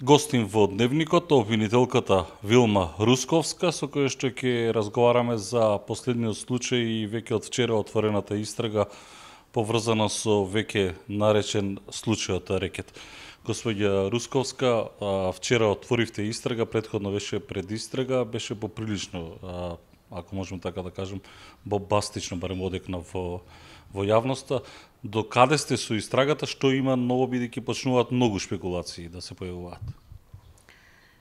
Гостин во Дневникот обвинителката Вилма Русковска, со која што ќе разговараме за последниот случај и веќе од вчера отворената истрага поврзана со веќе наречен случајот рекет. Господја Русковска, вчера отворивте истрага, претходно беше предистрага, беше поприлично, ако можем така да кажем, бомбастично барем одекна во јавноста. До каде сте со истрагата, што има ново, бидејќи почнуваат многу шпекулации да се појавуваат?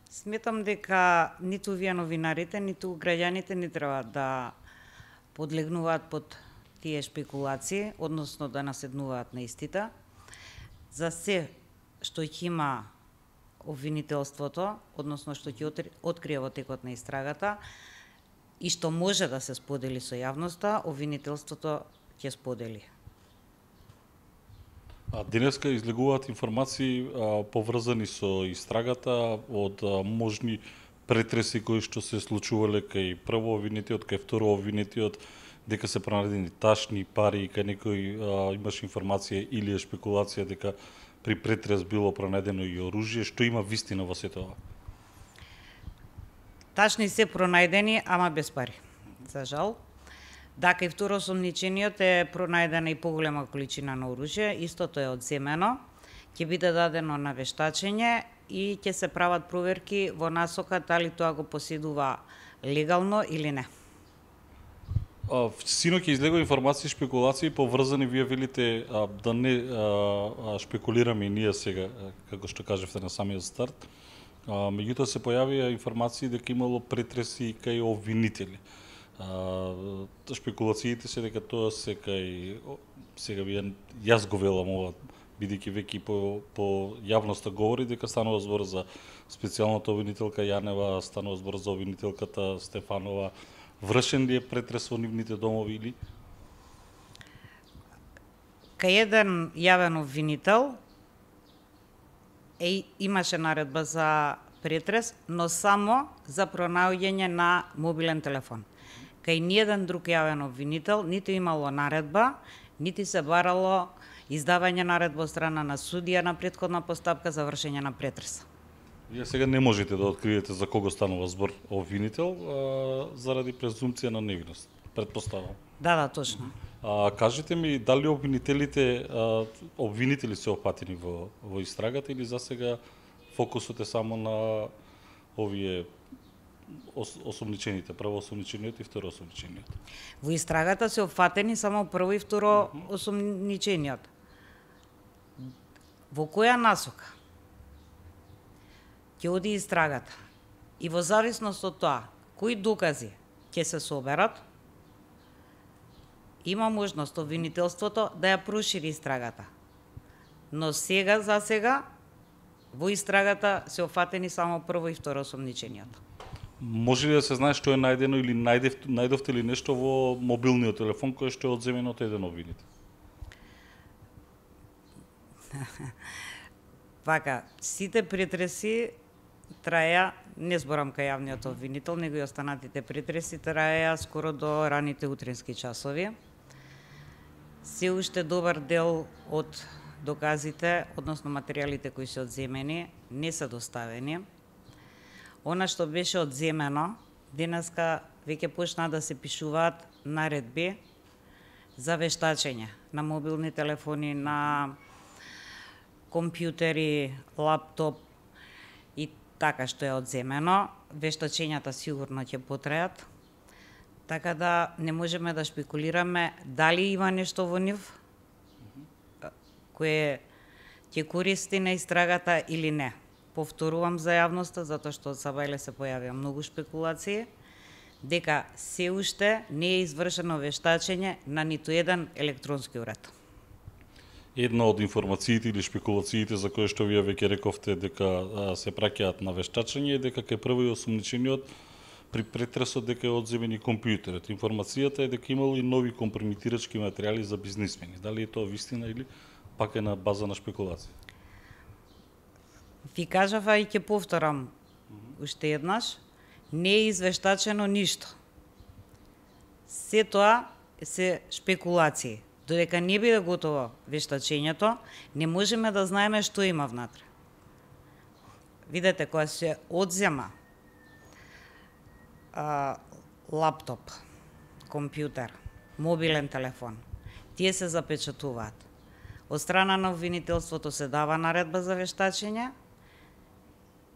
Сметам дека ниту вие новинарите, ниту граѓаните не треба да подлегнуваат под тие шпекулации, односно да наседнуваат на истите. За се што ќе има обвинителството, односно што ќе открие во текот на истрагата и што може да се сподели со јавноста, обвинителството ќе сподели. Денеска излегуваат информации поврзани со истрагата од можни претреси кои што се случувале кај прво обвинетиот, кај второ обвинетиот, дека се пронајдени ташни пари, кај некој имаше информација или шпекулација дека при претрес било пронајдено и оружје. Што има вистина во сето ова? Ташни се пронајдени, ама без пари. За жал. Да, кај второ осомничениот е пронајдена и поголема количина на оружје, истото е одземено, ќе биде дадено на вештачење и ќе се прават проверки во насока дали тоа го поседува легално или не. Синоќ излегува информации и шпекулации поврзани, вие велите да не шпекулираме и ние сега, како што кажевте на самиот старт. Меѓутоа се појавија информации дека имало претреси кај обвинители. Шпекулациите се дека тоа се кај, сега јас го велам ова, бидејќи веќе по јавноста говори дека станува збор за специјалната обвинителка Јанева, станува збор за обвинителката Стефанова. Вршен ли е претрес во нивните домови или? Кај еден јавен обвинител имаше наредба за претрес, но само за пронаоѓање на мобилен телефон. Кај ниеден друг јавен обвинител ниту имало наредба, нити се барало издавање наредба од страна на судија на претходна постапка за вршење на претрес. Вие сега не можете да откриете за кого станува збор обвинител заради презумпција на невиност, претпоставам. Да, точно. Кажете ми, дали обвинители се опатени во истрагата или за сега фокусот е само на овие осомничените, прво осомничениот и второ осомничениот? Во истрагата се опфатени само прво и второ осомничениот. Во која насока ќе оди истрагата и во зависност од тоа кои докази ќе се соберат, има можност обвинителството да ја прошири истрагата. Но сега, за сега, во истрагата се опфатени само прво и второ осомничениот. Може ли да се знае што е најдено или најдовте ли нешто во мобилниот телефон кој што е одземено од еден обвинител? Вака, сите претреси траја, не зборам кај јавниот обвинител, него и останатите претреси траја скоро до раните утрински часови. Се уште добар дел од доказите, односно материјалите кои се одземени, не се доставени. Она што беше одземено, денеска веќе почна да се пишуваат наредби за вештачење на мобилни телефони, на компјутери, лаптоп и така што е одземено. Вештачењата сигурно ќе потрајат, така да не можеме да шпекулираме дали има нешто во нив кое ќе користи на истрагата или не. Повторувам за јавноста, затоа што од сабајле се појавија многу шпекулации, дека се уште не е извршено вештачење на ниту еден електронски уред. Една од информациите или шпекулациите за кои што вие веќе рековте дека се праќаат на вештачење е дека кај прво и осомничениот при претресот дека е одземен и компјутерот. Информацијата е дека имало и нови компрометирачки материјали за бизнисмени. Дали е тоа вистина или пак е на база на шпекулација? Ви кажава и ќе повторам уште еднаш, не е извештачено ништо. Се тоа се шпекулации. Додека не биде готово вештачењето, не можеме да знаеме што има внатре. видете, кога се одзема лаптоп, компјутер, мобилен телефон, тие се запечатуваат. Од страна на обвинителството се дава наредба за вештачење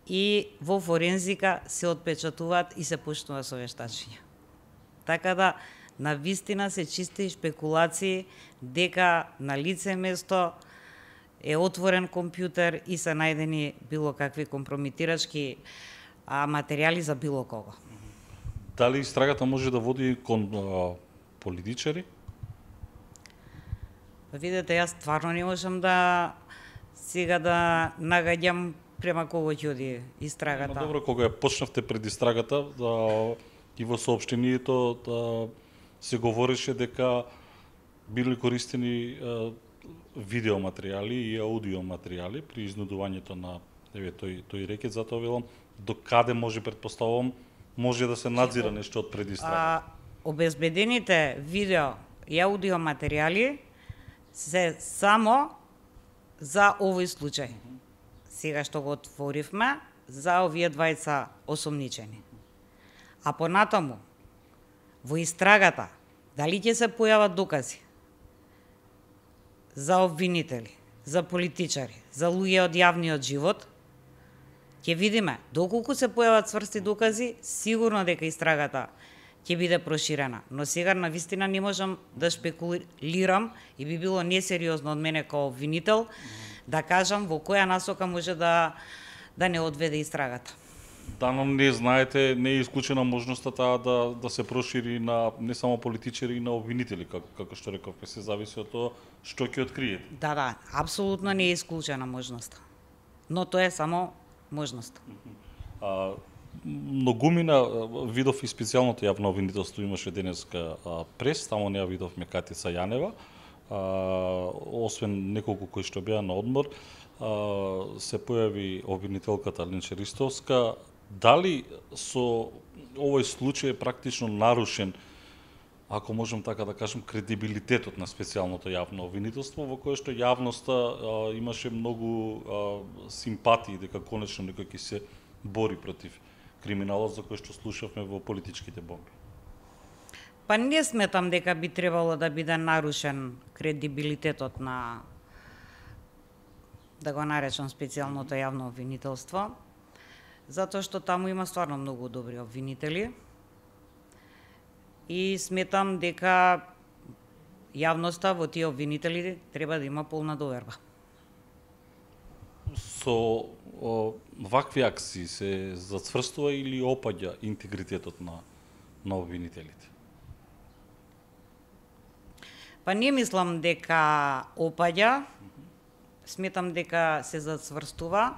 и во форензика се отпечатуваат и се почнува со вештачење. Така да, на вистина се чисти шпекулации дека на лице место е отворен компјутер и се најдени било какви компрометирачки материјали за било кого. Дали истрагата може да води кон политичари? Видете, јас стварно не можам да сега да нагаѓам према кого ќе оди истрагата. Но добро, кога ја почнавте пред истрагата, и во соопштението се говореше дека били користени видеоматеријали и аудиоматеријали при изнудувањето на тој рекет, затоа велам до каде може, предпоставувам, може да се надзира нешто од пред истрагата. Обезбедените видео и аудиоматеријали се само за овој случај. Сега што го отворивме за овие двајца осомничени. А понатаму, во истрагата, дали ќе се појават докази за обвинители, за политичари, за луѓе од јавниот живот, ќе видиме доколку се појават цврсти докази, сигурно дека истрагата ќе биде проширена. Но сега на вистина не можам да шпекулирам и би било несериозно од мене како обвинител да кажам во која насока може да не одведе истрагата. Да, но не знаете, не е исклучена можноста таа да се прошири на не само политичари и на обвинители, како што рековме, се зависи од тоа што ќе откриете. Да, апсолутно не е исклучена можноста. Но тоа е само можност. Многумина видов и специјалното јавно обвинителство имаше денеска прес, таму не ја видовме Катица Јанева, освен неколку кои што беа на одмор, се појави обвинителката Линче Ристовска. Дали со овој случај е практично нарушен, ако можем така да кажем, кредибилитетот на специјалното јавно обвинителство, во кое што јавноста имаше многу симпатии дека конечно некој ќе се бори против криминалот за кој што слушавме во политичките бомби? Па не сметам дека би требало да биде нарушен кредибилитетот на, да го наречам, специјалното јавно обвинителство, затоа што таму има стварно многу добри обвинители и сметам дека јавноста во тие обвинители треба да има полна доверба. Со вакви акции се зацврстува или опаѓа интегритетот на обвинителите? Па не мислам дека опаѓа, сметам дека се зацврстува,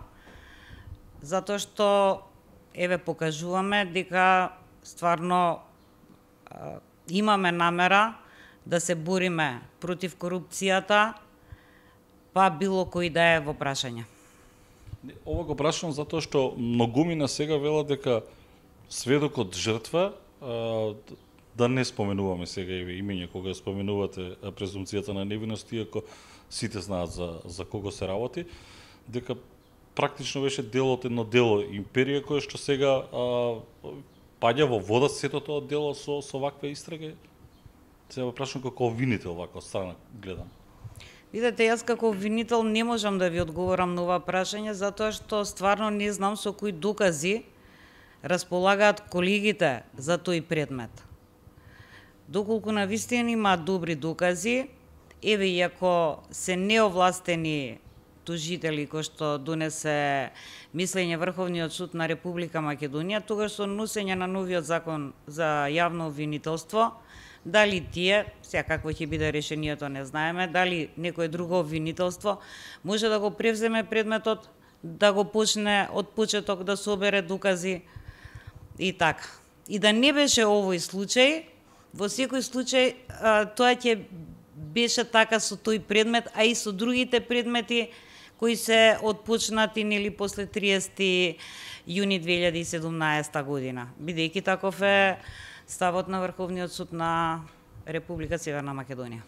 затоа што еве покажуваме дека стварно имаме намера да се бориме против корупцијата, па било кој да е во прашање. Ова го прашам затоа што многумина сега велат дека сведокот жртва, да не споменуваме сега имење кога споменувате презумцијата на невиност, иако сите знаат за кого се работи, дека практично беше дел од едно дело империја кое што сега паѓа во вода сето тоа дело со ваква истрага. Сега прашам како обвинител вака од страна гледам. Видете, јас како обвинител не можам да ви одговорам на ова прашање, затоа што стварно не знам со кои докази располагаат колегите за тој предмет. Доколку на вистина има добри докази, еве, иако се неовластени тужители кои што донесе мислење Врховниот суд на Република Македонија, тогаш со носење на новиот закон за јавно обвинителство, дали тие, сега какво ќе биде решението не знаеме, дали некое друго обвинителство може да го превземе предметот, да го почне од почеток да собере докази и така. И да не беше овој случај, во секој случај тоа ќе беше така со тој предмет, а и со другите предмети кои се отпочнати нели после 30 јуни 2017 година, бидејќи таков е ставот на Врховниот суд на Република Северна Македонија.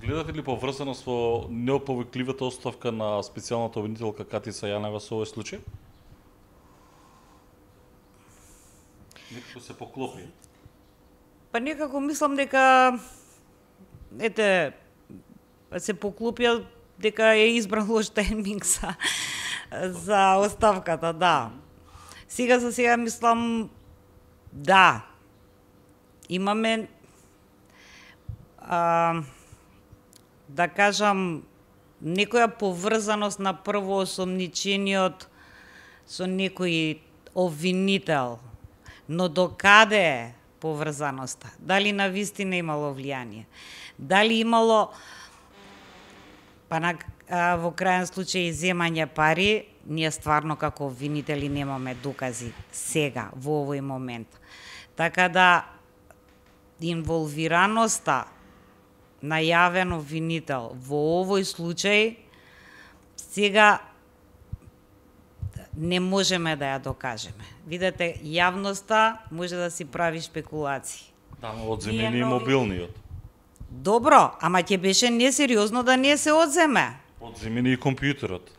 Гледате ли поврзаност во неоповикливата оставка на специјалната обвинителка Катица Јанева со овој случај? Некако се поклопи. Па некако мислам дека се поклопија дека е избран лош тајминг за оставката, да. Сега за сега мислам да. Имаме да кажам некоја поврзаност на првоосомничениот со некој обвинител, но докаде е поврзаноста? Дали на вистина имало влијание? Дали имало во крајен случај земање пари? Ние стварно како обвинители немаме докази сега, во овој момент. Така да инволвираноста на јавен обвинител во овој случај сега не можеме да ја докажеме. Видете, јавноста може да си прави шпекулации. Да, но одземени и мобилниот. Добро, ама ќе беше несериозно да не се одземе. Одземени и компјутерот.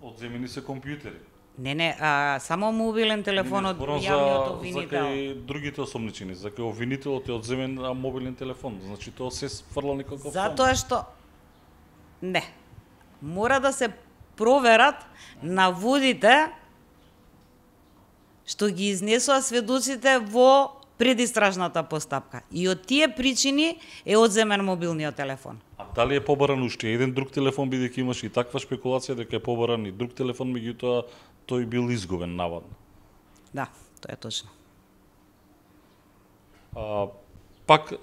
Одземени се компјутери. Не, само мобилен телефон од Зборам јавниот за обвинител. кај другите осомничени, за кај обвинителот е одземен мобилен телефон. Значи тоа се фрла некако. Затоа што не. Мора да се проверат наводите што ги изнесоа сведоците во предистражната постапка. И од тие причини е одземен мобилниот телефон. А дали е побаран уште еден друг телефон, бидејќи имаше и таква шпекулација дека е побаран и друг телефон, меѓутоа тој бил изгубен наводно. Да, тоа е точно. Пак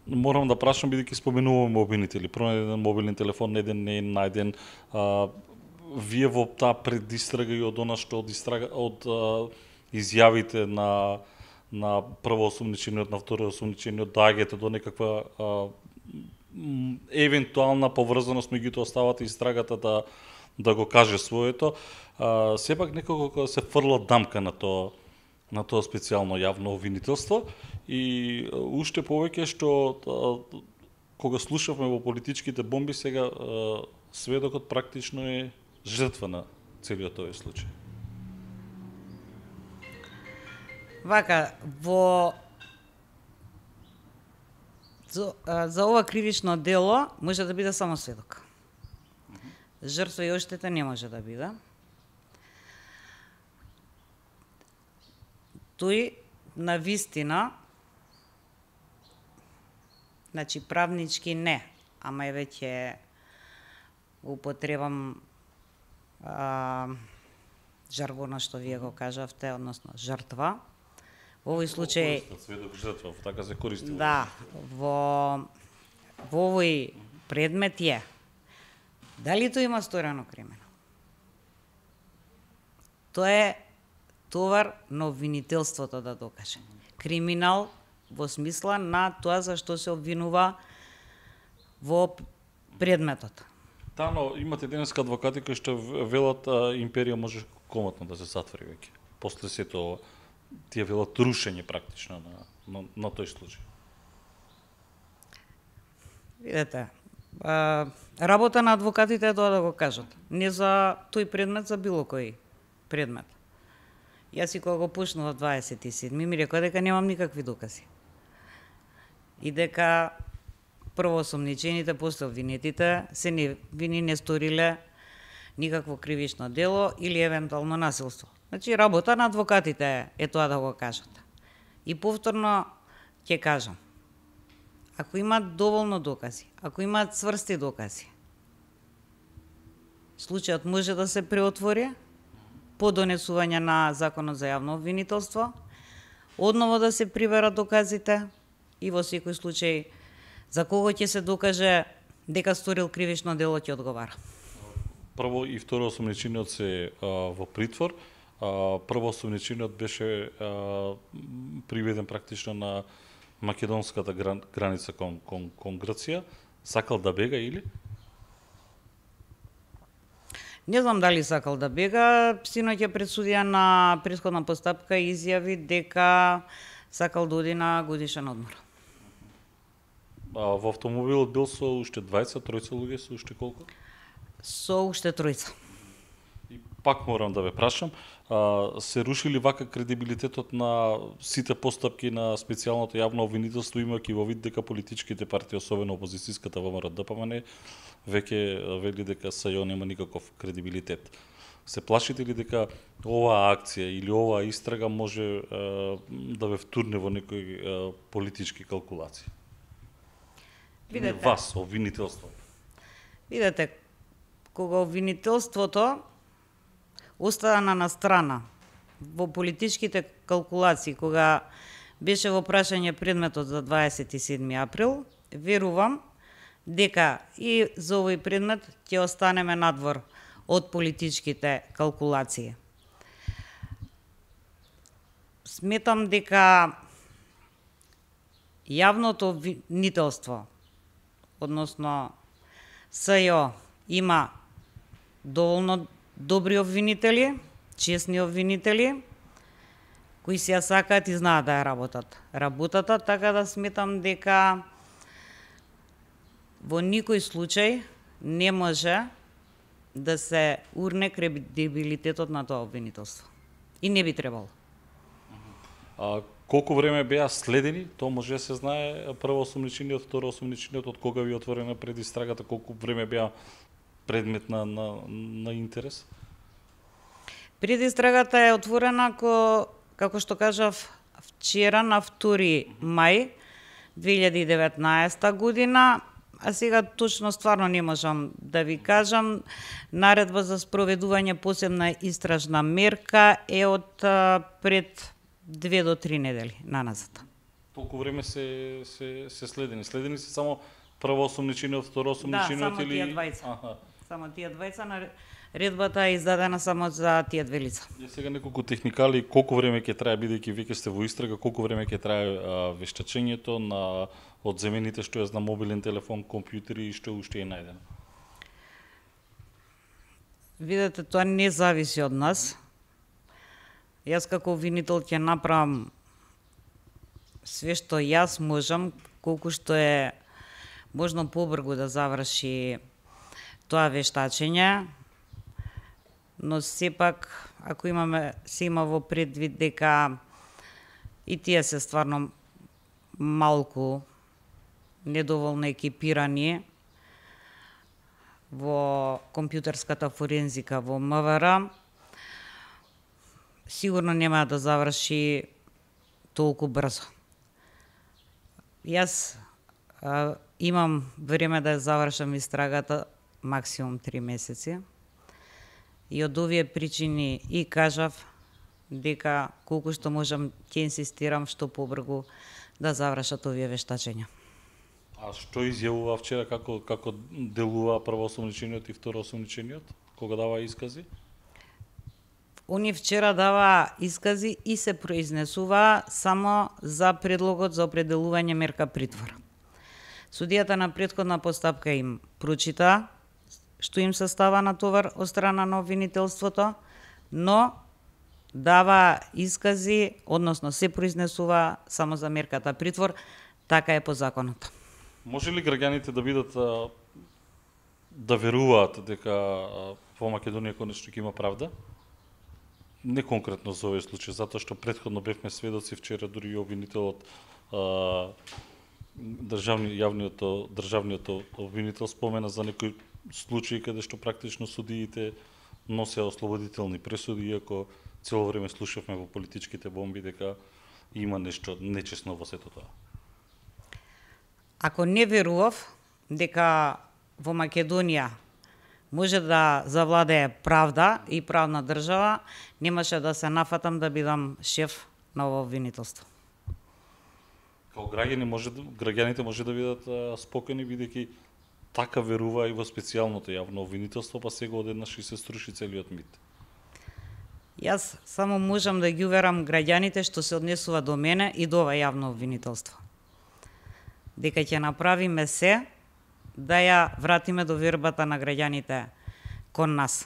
морам да прашам, бидејќи споменуваме обвинители. Пронеден мобилен телефон, еден не е најден. Вие во таа предистрага и од она што од изјавите на првоосомничениот, на второосомничениот, доаѓате до некаква евентуална поврзаност меѓу оставата истрагата да го каже своето, сепак некако кога се фрла дамка на тоа специјално јавно обвинителство и уште повеќе што кога слушавме во политичките бомби, сега сведокот практично е жртва на целиот овој случај. Вака, за ова кривично дело може да биде само сведок. Жртва и оштета не може да биде. Тој на вистина, значи правнички не, ама е веќе употребам жаргона што вие го кажавте, односно жртва. Во овој случај сведок жртва, така се користи. Да, во овој предмет е дали тој има сторено криминал. Тоа е товар на обвинителството да докаже. Криминал во смисла на тоа за што се обвинува во предметот. Тано, имате денеска адвокати кои што велат империја може комотно да се затвори веќе. После сето ова, тие велат рушење практично на тој случај. Видете, работа на адвокатите е тоа да го кажат. Не за тој предмет, за било кој предмет. Јас и кога го почнував 27 ми рекоа дека немам никакви докази. И дека прво осомничените, после обвинетите се невини, не сториле никакво кривично дело или евентуално насилство. Значи, работа на адвокатите е тоа да го кажат. И повторно ќе кажам, ако имаат доволно докази, ако имаат цврсти докази, случајот може да се преотвори по донесување на Законот за јавно обвинителство, одново да се приверат доказите и во секој случај за кого ќе се докаже дека сторил кривично дело ќе одговара. Прво и второ осомничениот се во притвор. Прво осомничениот беше приведен практично на македонската граница кон Грција. Сакал да бега или? Не знам дали сакал да бега. Синоќ пред судија на претходна постапка изјави дека сакал да оди на годишен одмор. Во автомобилот бил со уште 20, тројца луѓе, со уште колку? Со уште тројца. И Пак морам да ве прашам, се рушили вака кредибилитетот на сите постапки на специјалното јавно обвинителство, имајќи во вид дека политичките партии, особено опозицијската ВМРО-ДПМН, веќе вели дека СЈО нема никаков кредибилитет. Се плашите ли дека оваа акција или оваа истрага може да ве втурне во некои политички калкулации? Видете, Вас, обвинителство. Видете, кога обвинителството остана на страна во политичките калкулации, кога беше во прашање предметот за 27 април, верувам дека и за овој предмет ќе останеме надвор од политичките калкулации. Сметам дека јавното обвинителство, односно СЈО, има доволно добри обвинители, честни обвинители, кои си ја сакаат и знаат да ја работата, така да сметам дека во никој случај не може да се урне кредибилитетот на тоа обвинителство. И не би требало. Колку време беа следени, тоа може да се знае, прво осомничениот, второ осомничениот, од кога ви отворена предистрагата, колку време беа предмет на интерес? Предистрагата е отворена како што кажав вчера на 2 мај 2019 година, а сега точно стварно не можам да ви кажам. Наредба за спроведување посебна истражна мерка е од пред 2 до 3 недели наназад. Толку време се следени. Следени се само прво осомничениот, второ осомничениот или... Да, само тие двајца. Само тие двајца, наредбата е издадена само за тие две лица. И сега неколку техникали, колку време ќе трае, бидејќи веќе сте во истрага, колку време ќе трае вештачењето на одземените што е на мобилен телефон, компјутери и што уште е најдено? Видете, тоа не зависи од нас. Јас како обвинител ќе направам све што јас можам, колку што е можно побрзо да заврши тоа вештачење, но сепак, ако се има во предвид дека и тие се стварно малку недоволно екипирани во компјутерската форензика во МВР, сигурно нема да заврши толку брзо. Јас имам време да завршам истрагата максимум 3 месеци. И од овие причини и кажав дека колку што можам ќе инсистирам што побрзо да завршат овие вештачења. А што изјавува вчера, како делува прво осомничениот и второ осомничениот, кога дава искази? Они вчера дава искази и се произнесува само за предлогот за определување мерка притвор. Судијата на претходна постапка им прочита што им се става на товар од страна на обвинителството, но дава искази, односно се произнесува само за мерката притвор, така е по законот. Може ли граѓаните да бидат да веруваат дека во Македонија конечно ќе има правда? Не конкретно за овој случај, затоа што претходно бевме сведоци, вчера дури и обвинителот државниот обвинител спомена за некои случаи каде што практично судиите носеа ослободителни пресуди, иако цело време слушавме во политичките бомби дека има нешто нечесно во сето тоа. Ако не верував дека во Македонија може да завладее правда и правна држава, немаше да се нафатам да бидам шеф на ово обвинителство. Као граѓаните може да бидат спокојни, бидејќи така верува и во специјалното јавно обвинителство, па сега одеднаш и се струши целиот мит. Јас само можам да ги уверам граѓаните што се однесува до мене и до ова јавно обвинителство. Дека ќе направиме се да ја вратиме довербата на граѓаните кон нас.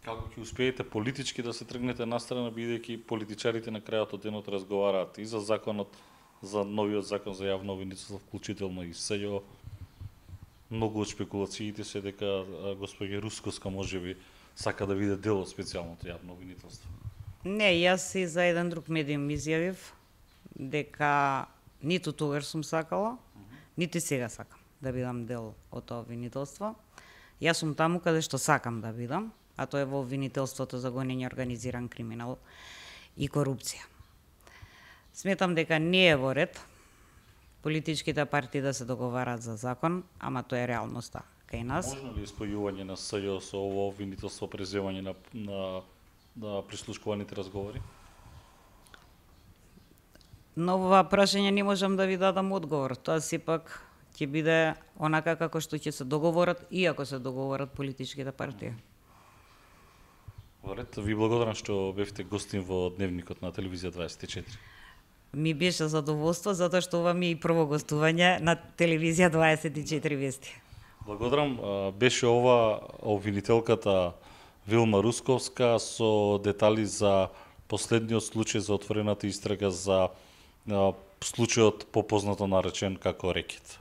Како ќе успеете политички да се тргнете настрана, бидејќи политичарите на крајот од денот разговараат и за законот, за новиот закон за јавно обвинителство, вклучително и СЈО. Многу од шпекулациите се дека госпоѓа Русковска можеби сака да биде дел од специјалното јавно обвинителство? Не, јас и за еден друг медиум изјавив дека ниту тогаш сум сакала, нити сега сакам да бидам дел од тоа обвинителство. Јас сум таму каде што сакам да бидам, а тоа е во обвинителството за гонење организиран криминал и корупција. Сметам дека не е во ред политичките партии да се договараат за закон, ама тоа е реалноста кај нас. Можно ли спојување на СЈО со ово обвинителство преземање на прислушкуваните разговори? На ова прашање не можам да ви дадам одговор. Тоа сепак ќе биде онака како што ќе се договорат, иако се договорат политичките партии. Во ред, ви благодарам што бевте гостин во Дневникот на Телевизија 24. Ми беше задоволство, затоа што ова ми е и прво гостување на Телевизија 24 вести. Благодарам. Беше ова обвинителката Вилма Русковска со детали за последниот случај за отворената истрага за случајот попознато наречен како рекет.